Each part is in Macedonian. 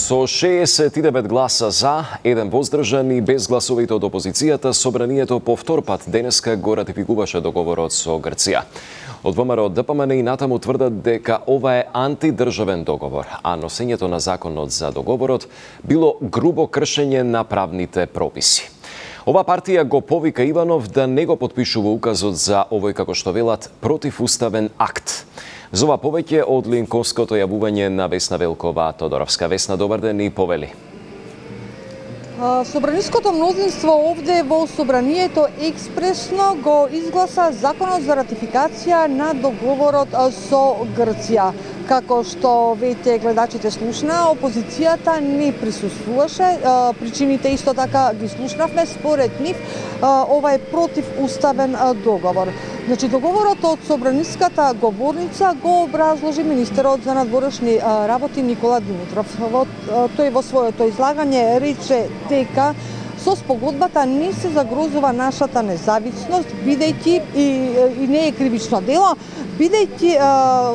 Со 69 гласа за, 1 воздржан и без гласовите од опозицијата, собранието по втор пат денеска го ратификуваше договорот со Грција. Од ВМРО ДПМН и натаму тврдат дека ова е антидржавен договор, а носењето на законот за договорот било грубо кршење на правните прописи. Ова партија го повика Иванов да не го подпишува указот за овој, како што велат, противуставен акт. За ова повеќе од линковското јавување на Весна Велкова Тодоровска. Весна, добар ден и повели. Собраниското мнозинство овде во собранието експресно го изгласа законот за ратификација на договорот со Грција. Како што веќе гледачите слушна, опозицијата не присуствуваше. Причините исто така ги слушнавме. Според нив, ова е противуставен договор. Значи, договорот од собраниската говорница го образложи министерот за надворешни работи Никола Димитров. Тој во своето излагање рече дека со спогодбата не се загрозува нашата независност, бидејќи и не е кривично дело, бидејќи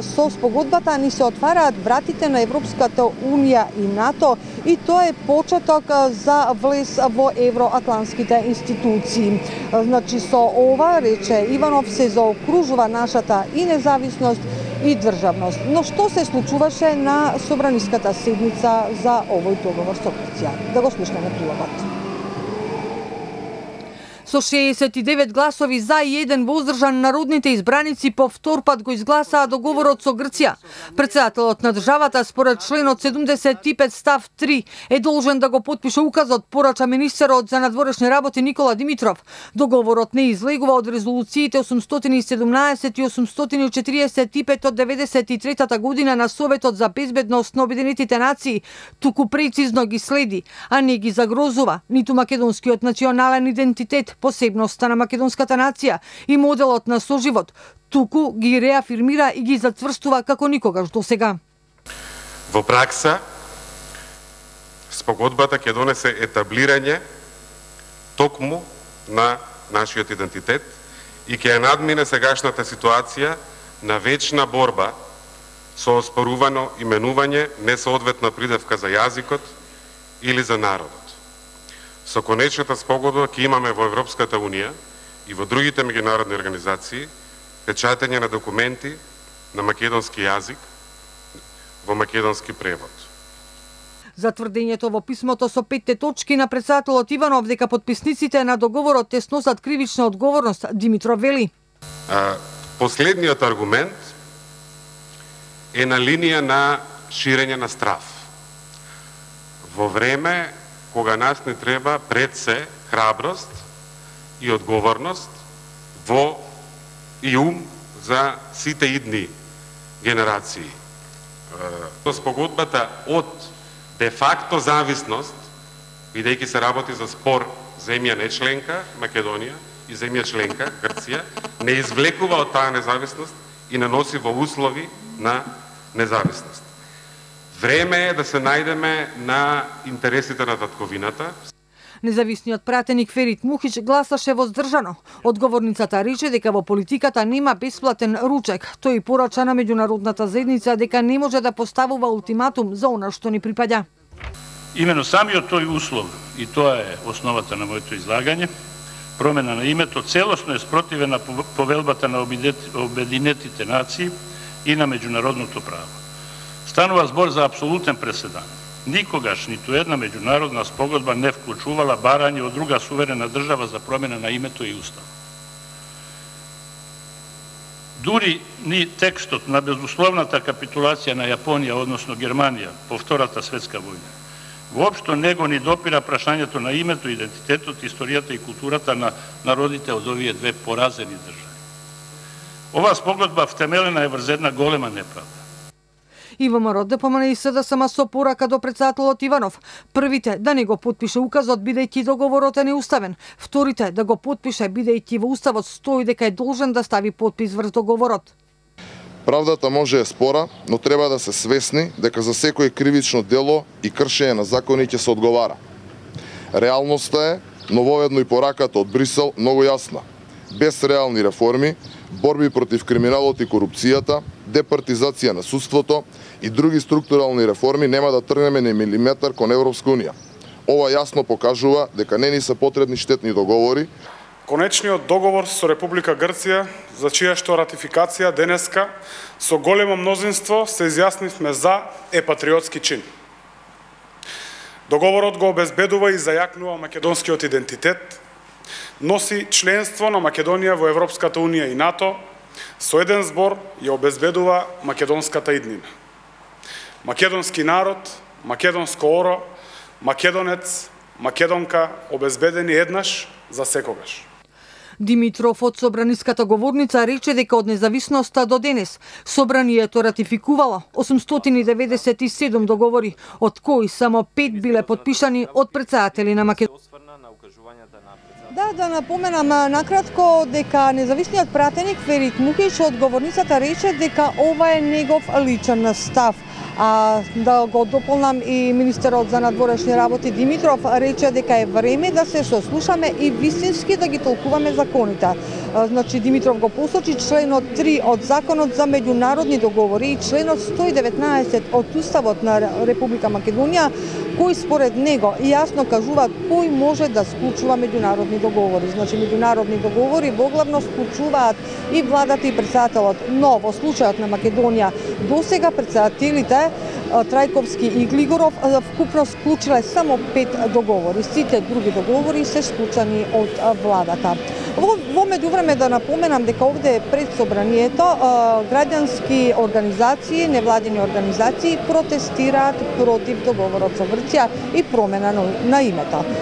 со спогодбата ни се отвараат вратите на Европската Унија и НАТО и тоа е почеток за влез во евроатлантските институции. Значи, со ова, рече Иванов, се заокружува нашата и независност и државност. Но што се случуваше на собраниската седница за овој договор со Грција? Да го слушнеме прилогот. Со 69 гласови за и 1 воздржан, народните избраници по втор пат го изгласаа договорот со Грција. Претседателот на државата според членот 75 став 3 е должен да го потпише указот, порача министерот за надворешни работи Никола Димитров. Договорот не излегува од резолуциите 817 и 845 од 93-та година на Советот за безбедност на Обединетите нации, туку прецизно ги следи, а не ги загрозува ниту македонскиот национален идентитет, посебноста на македонската нација и моделот на соживот, туку ги реафирмира и ги затврстува како никогаш досега. Во пракса, спогодбата ќе донесе етаблирање токму на нашиот идентитет и ќе ја надмине сегашната ситуација на вечна борба со оспорувано именување, несоодветна придевка за јазикот или за народот. Со конечната спогодба ќе имаме во Европската Унија и во другите меѓународни организации печатење на документи на македонски јазик во македонски превод. За тврдењето во писмото со 5 точки на претседателот Иванов дека подписниците на договорот те сносат кривична одговорност, Димитров вели. Последниот аргумент е на линија на ширење на страв. Во време кога нас не треба пред се храброст и одговорност и ум за сите идни генерации. Спогодбата од де-факто зависност, бидејќи се работи за спор земја не членка, Македонија, и земја членка, Грција, не извлекува од таа независност и наноси во услови на независност. Време е да се најдеме на интересите на татковината. Независниот пратеник Ферит Мухич гласаше воздржано. Одговорницата рече дека во политиката нема бесплатен ручек. Тој порача на меѓународната заедница дека не може да поставува ултиматум за она што ни припаѓа. Имено самиот тој услов, и тоа е основата на моето излагање, промена на името целосно е спротивена на повелбата на Обединетите нации и на меѓународното право. Станува збор за апсолутен преседан. Никогаш ниту една меѓународна спогодба не вклучувала барање од друга суверена држава за промена на името и устав. Дури ни текстот на безусловната капитулација на Јапонија, односно Германија, по Втората светска војна, воопшто не го ни допира прашањето на името, идентитетот, историјата и културата на народите од овие две поразени држави. Оваа спогодба втемелена е врз една голема неправда. И ВМРО ДПМН и СДСМ со порака до претседателот Иванов. Првите да не го потпише указот бидејќи договорот е неуставен. Вторите да го потпише бидејќи во уставот стои дека е должен да стави потпис врз договорот. Правдата може е спора, но треба да се свесни дека за секој кривично дело и кршење на закони ќе се одговара. Реалноста е, нововедно и пораката од Брисел, многу јасна. без реални реформи, борби против криминалот и корупцијата, департизација на судството и други структурални реформи нема да тргнеме ни милиметар кон Европска унија. Ова јасно покажува дека не ни се потребни штетни договори. Конечниот договор со Република Грција, за чија што ратификација денеска со големо мнозинство се изјаснивме за, е патриотски чин. Договорот го обезбедува и зајакнува македонскиот идентитет, носи членство на Македонија во Европската унија и НАТО, со еден збор ја обезбедува македонската иднина. Македонски народ, македонско оро, македонец, македонка обезбедени еднаш за секогаш. Димитров од собраниската говорница рече дека од независноста до денес собранието ратификувало 897 договори, од кои само 5 биле подпишани од претседатели на Македонија. Да напоменам накратко дека независниот пратеник Ферит Мухич од говорницата рече дека ова е негов личен став. А да го дополнам и министерот за надворешни работи Димитров рече дека е време да се сослушаме и вистински да ги толкуваме законите. Значи Димитров го посочи членот 3 од Законот за меѓународни договори и членот 119 од Уставот на Република Македонија, кои според него јасно кажуваат кој може да склучува меѓународни договори. Значи меѓународни договори воглавно склучуваат и владата и претседателот, но во случајот на Македонија досега претседателите Трајковски и Глигоров вкупно склучиле само 5 договори. Сите други договори се склучани од владата. Во меѓувреме да напоменам дека овде пред собранието граѓански организации, невладини организации протестираат против договорот со Грција и промена на името.